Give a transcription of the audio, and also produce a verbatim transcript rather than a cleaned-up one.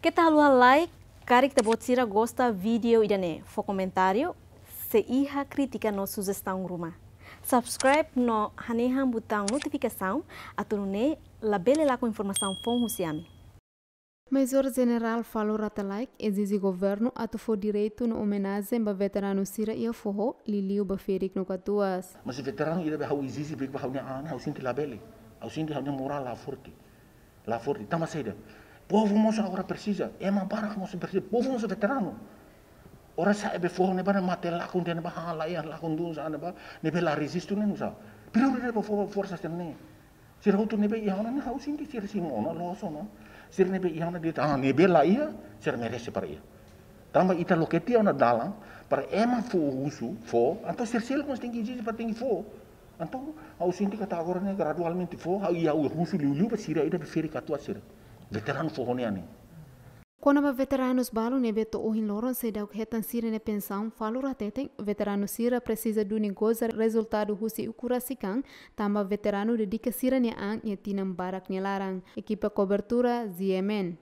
Keta haluha like, karik ita-boot sira gosta vídeo ida-ne'e, fó komentáriu, se iha krítika no sujestaun ruma. Subscribe no hanehan butaun notifikasaun, atu nune'e labele lakon informasaun foun husi ami. Major Jenerál Falur Rate Laek ezije governu atu fó direitu no omenajen ba veteranu sira iha foho, liuliu ba ferik no katuas. Mas veteranu ida be ha'u ezije be ba ha'u-nia an, ha'u sente labele. Ha'u sente ha'u-nia morál la forte. La forte. Tanba saida? Povu mós agora presiza. Ema barak mós presiza. Povu mós veteranu. Ora sa'e be foho ne'ebá ne'e mate lakon de'it ne'ebá, ha, laiha lakon dun sa'e ne'ebá, ne'ebé la rejistu ne'e nusá. Prioridade ba foho, forsa sira-ne'e. Sira hotu ne'ebé iha ona ne'e ha'u sente sira simu ona, loos ona. Sira ne'ebé iha ona de'it, ah, ne'ebé laiha, sira merese para iha. Tanba ita loke tiha ona dalan, para ema fó husu, fó, entaun sira seluk mós tenke ezije para tenke fó. Entaun, ha'u sente katak agora ne'e gradualmente fó, ha'u, i ha'u husu liuliu ba sira ida be ferik katuas sira. Veteranu foho nian ne'e. Kona-ba veteranus balu ne'ebé to'o ohin loron seidauk hetan sira-nia pensaun, Falur hateten, veteranu sira presiza duni goza rezultadu husi ukun rasik an, tanba veteranu dedika sira-nia an iha tinan barak nia laran. Ekipa kobertura, G M N.